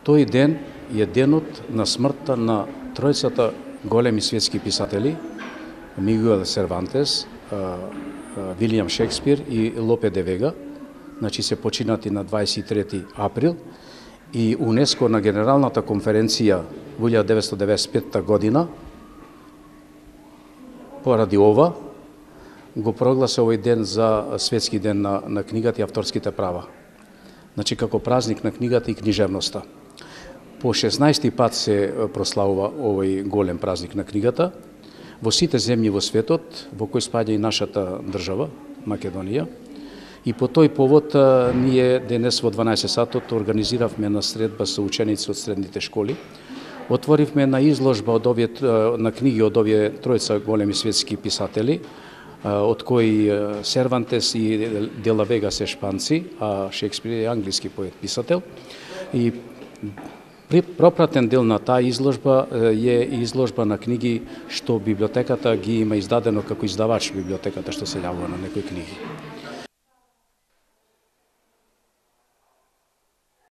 Тој ден е денот на смртта на тројцата големи светски писатели, Мигуел Сервантес, Вилијам Шекспир и Лопе де Вега, значи се починати на 23 април, и УНЕСКО на Генералната конференција во 1995 година, поради ова, го прогласи овој ден за светски ден на книгата и авторските права. Значи, како празник на книгата и книжевноста. По 16 пат се прославува овој голем празник на книгата во сите земји во светот, во кој спаѓа и нашата држава, Македонија. И по тој повод ние денес во 12 сатот организиравме на средба со ученици од средните школи. Отворивме на изложба од на книги од овие тројца големи светски писатели, од кои Сервантес и де ла Вега се шпанци, а Шекспир е англиски поет писател. И пропратен дел на таа изложба е изложба на книги што библиотеката ги има издадено како издавач библиотеката што се јавува на некои книги.